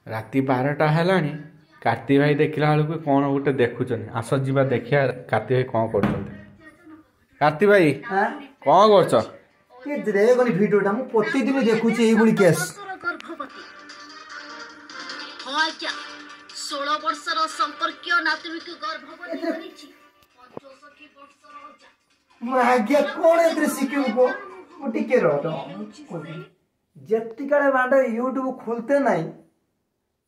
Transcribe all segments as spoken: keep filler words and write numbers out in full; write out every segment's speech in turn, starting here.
ରାତି ବାରଟା ହେଲାଣି କାର୍ତ୍ତି ଭାଇ ଦେଖିଲା ବେଳକୁ କ'ଣ ଗୋଟେ ଦେଖୁଛନ୍ତି ଆସ ଯିବା ଦେଖିବା କାର୍ତ୍ତି ଭାଇ କ'ଣ କରୁଛନ୍ତି କାର୍ତ୍ତି ଭାଇ ଆଁ? କ'ଣ କରୁଛ ଟିକେ ଦେଖନି ଭିଡ଼ିଓଟା ମୁଁ ପ୍ରତିଦିନ ଦେଖୁଛି ଏଇଭଳି କେସ୍ ବର୍ଷର ଗର୍ଭବତୀ ହଁ ଆଜ୍ଞା ଷୋହଳ ବର୍ଷର ସମ୍ପର୍କୀୟ ନାତୁଣୀକୁ ଗର୍ଭବତୀ କରିଛି ପଞ୍ଚଷଠି ବର୍ଷର ଅଜା ମୁଁ ଆଜ୍ଞା କ'ଣ ଏଥିରେ ଶିଖିବୁ କୁହ ମୁଁ ଟିକେ ରହ ରହ, ମୁଁ କହିବି। ଯେତିକାଳେ ବାଣ୍ଡ ୟୁଟ୍ୟୁବ ଖୋଲତେ ନାହିଁ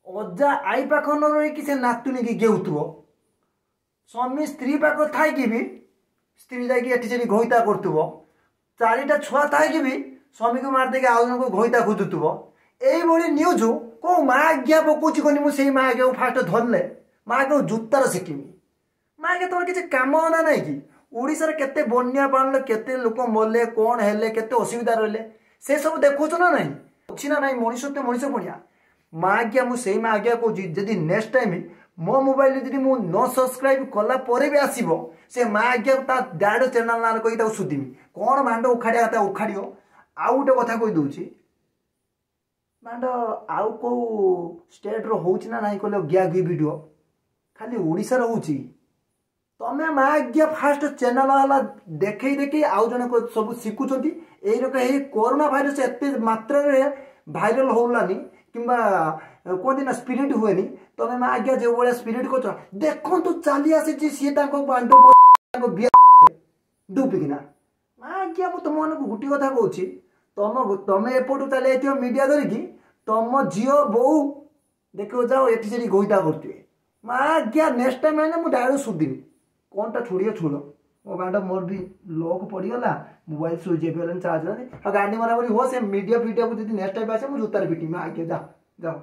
ଅଜା ଆଈ ପାଖ ନ ରହିକି ସେ ନାତୁଣୀକି ଗେଉଥିବ ସ୍ୱାମୀ ସ୍ତ୍ରୀ ପାଖ ଥାଇକି ବି ସ୍ତ୍ରୀ ଯାଇକି ଏଠି ସେଠି ଘଇତା କରୁଥିବ ଚାରିଟା ଛୁଆ ଥାଇକି ବି ସ୍ୱାମୀକୁ ମାରିଦେଇକି ଆଉ ଜଣଙ୍କୁ ଘଇତା ଖୋଜୁଥିବ ଏଇଭଳି ନ୍ୟୁଜ୍ କୋଉ ମା ଆଜ୍ଞା ପକଉଛି କନି ମୁଁ ସେଇ ମା ଆଜ୍ଞାକୁ ଫାଷ୍ଟ ଧରିଲେ ମା ଆଜ୍ଞାକୁ ଜୁତାର ଶିଖିବି ମା ଆଜ୍ଞା ତମର କିଛି କାମ ନା ନାହିଁ କି ଓଡ଼ିଶାରେ କେତେ ବନ୍ୟା ପାଣିରେ କେତେ ଲୋକ ମଲେ କ'ଣ ହେଲେ କେତେ ଅସୁବିଧା ରହିଲେ ସେ ସବୁ ଦେଖୁଛୁ ନା ନାହିଁ ଅଛି ନା ନାହିଁ ମଣିଷ ତ ମଣିଷ ପଣିଆ ମା ଆଜ୍ଞା ମୁଁ ସେଇ ମା ଆଜ୍ଞା କହୁଛି ଯଦି ନେକ୍ସଟ ଟାଇମ୍ ମୋ ମୋବାଇଲରେ ଯଦି ମୁଁ ନ ସବସ୍କ୍ରାଇବ୍ କଲା ପରେ ବି ଆସିବ ସେ ମା ଆଜ୍ଞା ତା ଡାଇରେକ୍ଟ ଚ୍ୟାନେଲ ନାଁରେ କହିକି ତାକୁ ସୁଧିବି କ'ଣ ମାଣ୍ଡ ଉଖାଡ଼ିବା କଥା ଉଖାଡ଼ିବ ଆଉ ଗୋଟେ କଥା କହିଦେଉଛି ମାଣ୍ଡ ଆଉ କେଉଁ ଷ୍ଟେଟ୍ର ହେଉଛି ନା ନାହିଁ କହିଲେ ଗିଆ ଗି ଭିଡ଼ିଓ ଖାଲି ଓଡ଼ିଶାର ହେଉଛି ତମେ ମା ଆଜ୍ଞା ଫାଷ୍ଟ ଚ୍ୟାନେଲ ହେଲା ଦେଖେଇ ଦେଖେଇ ଆଉ ଜଣେ ସବୁ ଶିଖୁଛନ୍ତି ଏଇରକମ ଏଇ କରୋନା ଭାଇରସ ଏତେ ମାତ୍ରାରେ ଭାଇରାଲ ହଉଲାନି କିମ୍ବା କୁହନ୍ତି ନା ସ୍ପ୍ରେଡ୍ ହୁଏନି ତମେ ମା ଆଜ୍ଞା ଯେଉଁ ଭଳିଆ ସ୍ପ୍ରେଡ୍ କରୁଛ ଦେଖନ୍ତୁ ଚାଲି ଆସିଛି ସିଏ ତାଙ୍କ ବାଣ୍ଡ ତାଙ୍କ ବିଆ ଡୁବିକିନା ମା ଆଜ୍ଞା ମୁଁ ତୁମମାନଙ୍କୁ ଗୋଟିଏ କଥା କହୁଛି ତମ ତମେ ଏପଟୁ ଚାଲି ଯାଇଥିବ ମିଡ଼ିଆ ଧରିକି ତମ ଝିଅ ବୋଉ ଦେଖିବ ଯାଅ ଏଠି ସେଠି ଘଇତା କରୁଥିବେ ମା ଆଜ୍ଞା ନେକ୍ସଟ ଟାଇମ୍ ହେଲେ ମୁଁ ଡାଇରେକ୍ଟ ସୁଧିବି କ'ଣଟା ଛୁଡ଼ିବ ଛୁଡ଼ ମୋ ବାଣ୍ଡ ମୋର ବି ଲକ୍ ପଡ଼ିଗଲା ମୋବାଇଲ ସୁଇଚ୍ ଅଫ୍ ହେଇଗଲାଣି ଚାର୍ଜ ହେଲାନି ଆଉ ଗାଣ୍ଡି ମରାମରି ହୁଅ ସେ ମିଡ଼ିଆ ଫିଡ଼ିଆକୁ ଯଦି ନେକ୍ସଟ ଟାଇମ୍ ଆସେ ମୁଁ ଜୁତାରେ ପିଟିବି ମା ଆଜ୍ଞା ଯା ଯାଅ